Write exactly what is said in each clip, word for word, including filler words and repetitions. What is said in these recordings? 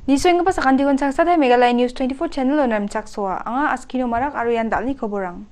Nisoenggipa sakantikon changsatai Meghalaya News twenty-four channel-o namchaksoa. Anga Askino Marak aro ian dal·ni koborang.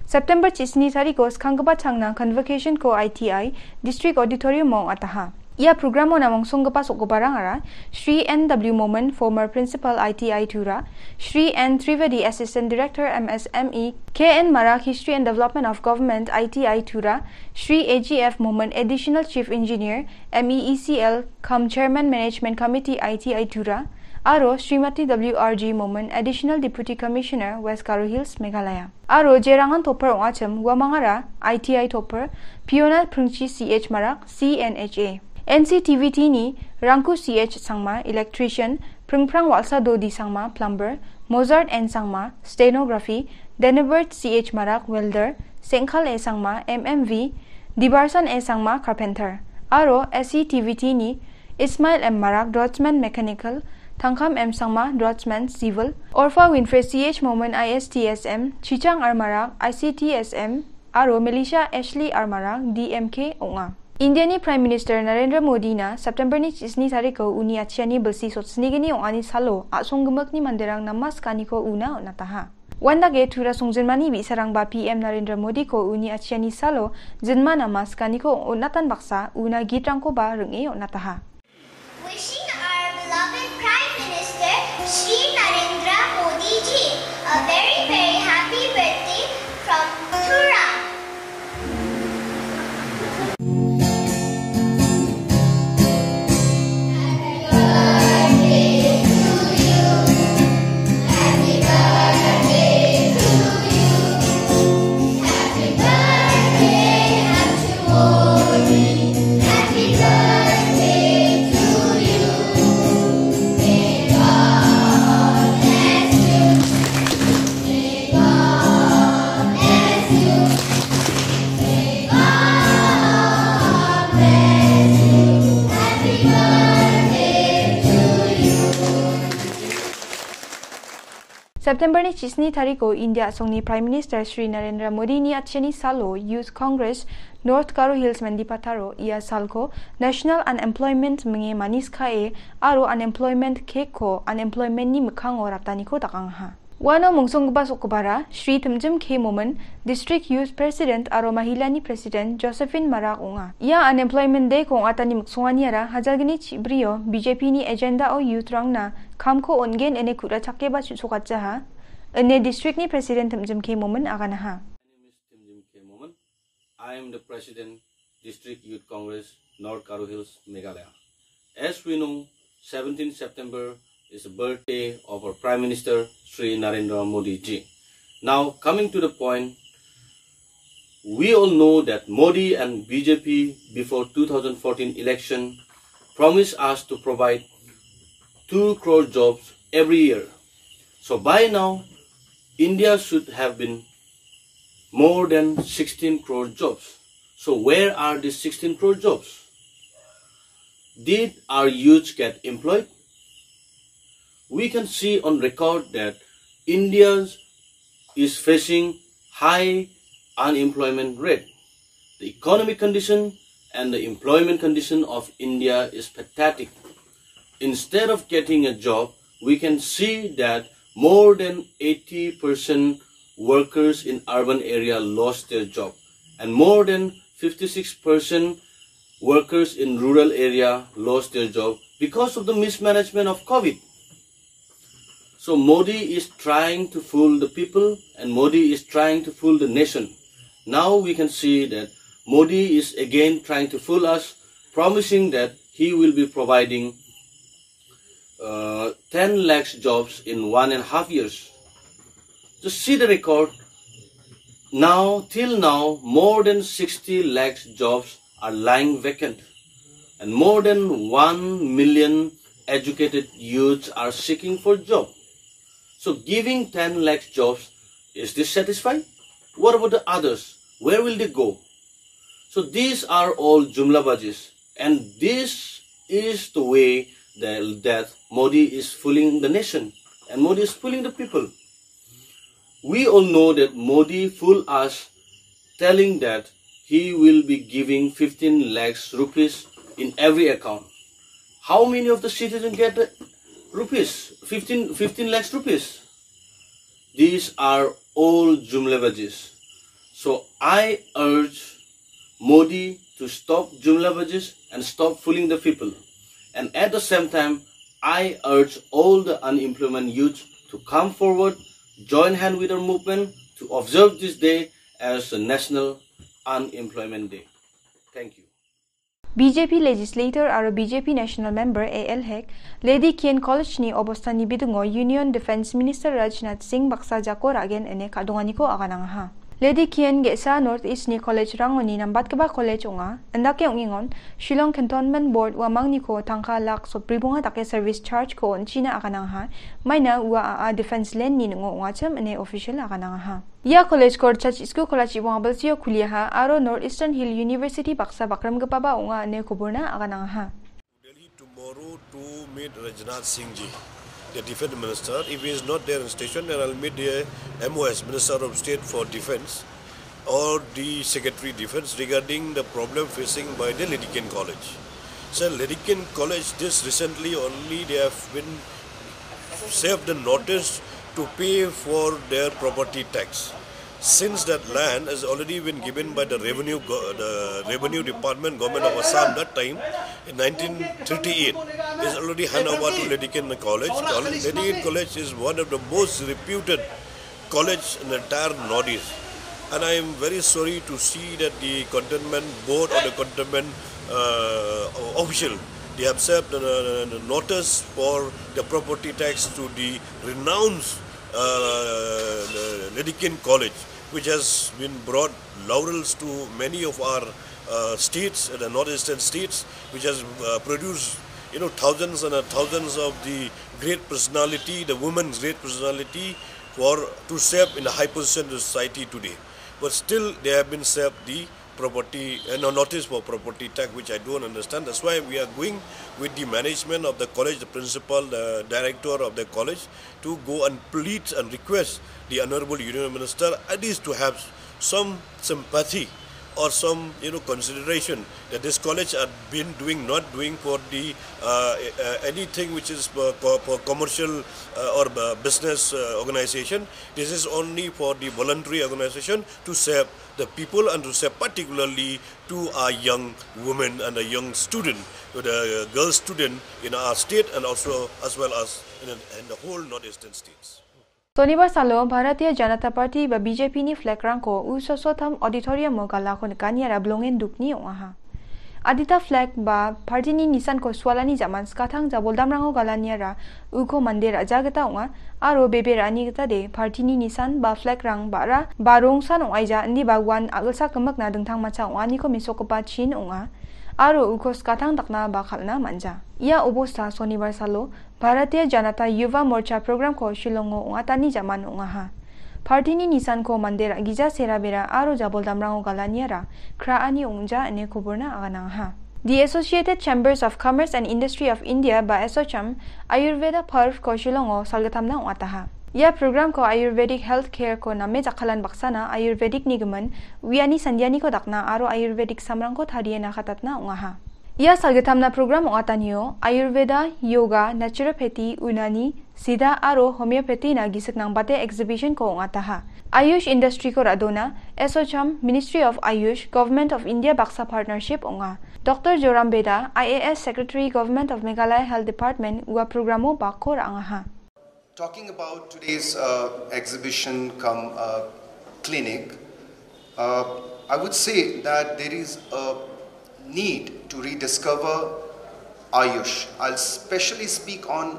September chisni tariko skanggipa changna Convocation-ko I T I District Auditorium-o ong·ataha. Ia programo namongsonggipa sokgiparangara Shri N W Momin, former Principal I T I Tura, Shri N Trivedi, Assistant Director M S M E, K N Marak, History and Development of Government I T I Tura, Shri A G F Momin, Additional Chief Engineer M E E C L cum Chairman Management Committee I T I Tura, aro Srimati W R G Momin, Additional Deputy Commissioner West Garo Hills, Meghalaya. Aro jerangan topper ong·achim uamangara I T I topper Piona Pringchi C H Marak, C N H A. N C T V T-ni Rangku C H Sangma, electrician, Pringprang Walsa Dodi Sangma, plumber, Mozart N Sangma, stenography, Denebert C H Marak, welder, Sengkal A Sangma, M M V, Dibarsan A Sangma, carpenter. Aro S C T V T-ni Ismail M Marak, draftsman mechanical, Tangkam M Sangma, draftsman civil, Orpha Winfrey C H Momin, I S T S M, Chichang R Marak, I C T S M, aro Melisha Ashley R Marak, D M K ong·a. Indiani Prime Minister Narendra Modi-na September-ni chisni tariko uni atchiani bilsi sotsnigni ong·ani salo a·songgimikni manderang namas ganiko una on·ataha. Uandake Tura songjinmani bi·sarangba P M Narendra Modiko uni atchiani salo jinma namas ganiko on·atan baksa una gitrangkoba ring·e on·ataha. Wishing our beloved Prime Minister Shri Narendra Modi ji a very, very happy birthday from Tura. September-ni chisni tariko India a·songni Prime Minister Shri Narendra Modi-ni atchiani salo Youth Congress North Garo Hills Mendipataro ia salko National Unemployment minge manis ka·e aro unemployment cake-ko unemployment-ni mikkango rataniko dakangaha. Uano mongsonggipa sokgipara Shri Timjim K Momin, District Youth President aro Mahilani President Josephine Marak ong·a. Ia Unemployment Day-ko ong·atani miksonganiara hajalgni chibrio B J P-ni agenda-o youth-rangna kamko on·gen ine ku·rachakeba chu·sokatjaha, ine district-ni President Timjim K Momin aganaha. My name is Timjim K Momin. I am the President, District Youth Congress, North Garo Hills, Meghalaya. As we know, seventeenth September is the birthday of our Prime Minister, Shri Narendra Modi ji. Now, coming to the point, we all know that Modi and B J P before two thousand fourteen election promised us to provide two crore jobs every year. So by now, India should have been more than sixteen crore jobs. So where are these sixteen crore jobs? Did our youths get employed? We can see on record that India is facing high unemployment rate. The economic condition and the employment condition of India is pathetic. Instead of getting a job, we can see that more than eighty percent workers in urban area lost their job, and more than fifty-six percent workers in rural area lost their job because of the mismanagement of COVID. So Modi is trying to fool the people and Modi is trying to fool the nation. Now we can see that Modi is again trying to fool us, promising that he will be providing uh, ten lakhs jobs in one and a half years. Just see the record. Now, till now, more than sixty lakhs jobs are lying vacant, and more than one million educated youths are seeking for job. So, giving ten lakhs jobs, is this satisfied? What about the others? Where will they go? So these are all jumlabazis, and this is the way that, that Modi is fooling the nation and Modi is fooling the people. We all know that Modi fooled us, telling that he will be giving fifteen lakhs rupees in every account. How many of the citizens get rupees? Fifteen, fifteen lakhs rupees. These are all jumlebazis. So I urge Modi to stop jumlebazis and stop fooling the people. And at the same time, I urge all the unemployment youth to come forward, join hand with our movement to observe this day as a National Unemployment Day. Thank you. B J P legislator aro B J P national member A L Hek, Lady Kian College-ni obostani bidingo Union Defence Minister Rajnath Singh baksa jako ra·gen ine ka·donganiko aganangaha. Lady Kian ge·sa North East-ni college-rangoni nambatgipa college ong·a. Indake ong·engon, Shillong Cantonment Board uamangniko tangka lak sobribonga dake service charge-ko on·china aganangaha. Maina ua a·a defence land-ni ning·o ong·achim ine official aganangaha. Ia college-ko Church School College ibong abilsio kuliaha aro North Eastern Hill University baksa bakrimgipaba ong·a ine koborna aganangaha. Delhi tomorrow to meet Rajnath Singh ji, the defense minister. If he is not there in station, then I'll meet the M O S, Minister of State for Defense, or the Secretary Defense regarding the problem facing by the Lady Kian College. Sir, Lady Kian College, this recently only they have been served the notice to pay for their property tax. Since that land has already been given by the revenue go-, the revenue department, government of Assam that time, in nineteen thirty-eight, is already hand over to Lady Kian College. Col-, Lady Kian College is one of the most reputed college in the entire Northeast. And I am very sorry to see that the cantonment board or the cantonment, uh, official, they have served the, the notice for the property tax to the renowned, uh, Lady Kian College, which has been brought laurels to many of our, uh, states, the northeastern states, which has, uh, produced, you know, thousands and, uh, thousands of the great personality, the women's great personality, for to serve in a high position in society today. But still, they have been served the property, uh, no, notice for property tax, which I don't understand. That's why we are going with the management of the college, the principal, the director of the college, to go and plead and request the Honorable Union Minister at least to have some sympathy or some, you know, consideration that this college had been doing, not doing for the, uh, uh, anything which is for, for, for commercial, uh, or, uh, business, uh, organization. This is only for the voluntary organization to serve the people and to serve particularly to our young women and a young student, the girl student in our state and also as well as in, in the whole northeastern states. Sonibar salo Bharatiya Janata Party ba B J P-ni flag-rangko U Sosotham Auditorium-o galako nikaniara bilongen dukni ong·aha. Adita flag ba party-ni nisanko sualani jaman skatang jaboldamrango galaniara uko mande ra·ja gita ong·a aro bebe ra·ani gitade party-ni nisan ba flag-rang ba·ra ba rongsan ong·aija indiba uan a·gilsa gimikna dingtangmancha ong·aniko mesokgipa chin ong·a aro uko skatang dakna ba kal·na man·ja. Ia obosta sonibar salo Bharatiya Janata Yuva Morcha program-ko Shillongo ong·atani jaman ong·aha. Party-ni nisanko mande ra·gija serabera aro jaboldamrango galaniara kra·ani ong·ja ine koborna aganangaha. The Associated Chambers of Commerce and Industry of India ba ASSOCHAM Ayurveda Parv-ko Shillongo salgittamna ong·ataha. Ia program-ko Ayurvedic Health Care-ko name jakkalan baksana Ayurvedic-ni gimin uiani sandianiko dakna aro Ayurvedic samrangko tarie nakatatna ong·aha. Ia salgittamna program ong·atanio Ayurveda, Yoga, Naturopathy, Unani, Siddha aro Homeopathy-na gisik nangbate exhibition-ko ong·ataha. Ayush industry-ko ra·dona, ASSOCHAM, Ministry of Ayush, Government of India baksa partnership ong·a. Doctor Joram Beda, I A S Secretary, Government of Meghalaya Health Department, ua programo bakko ra·angaha. Talking about today's, uh, exhibition cum, uh, clinic, uh, I would say that there is a need to rediscover Ayush. I'll specially speak on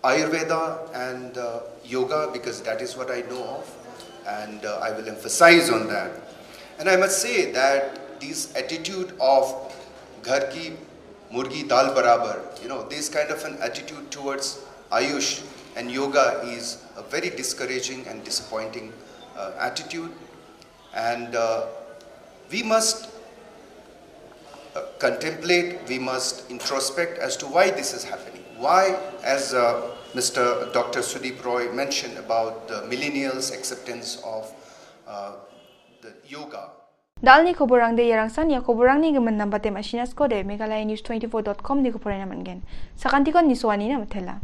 Ayurveda and, uh, yoga because that is what I know of, and, uh, I will emphasize on that. And I must say that this attitude of "Ghar ki murgi dal barabar," you know, this kind of an attitude towards Ayush and yoga is a very discouraging and disappointing, uh, attitude. And, uh, we must, uh, contemplate, we must introspect as to why this is happening. Why, as, uh, Mister Doctor Sudeep Roy mentioned about the millennials' acceptance of, uh, the yoga. Da·alni koborangde iarangsan ia koborangni gimin nambate ma·sinaskode Meghalaya News twenty-four dot com niko poraiena man·gen. Sakantikon nisoanina mitela.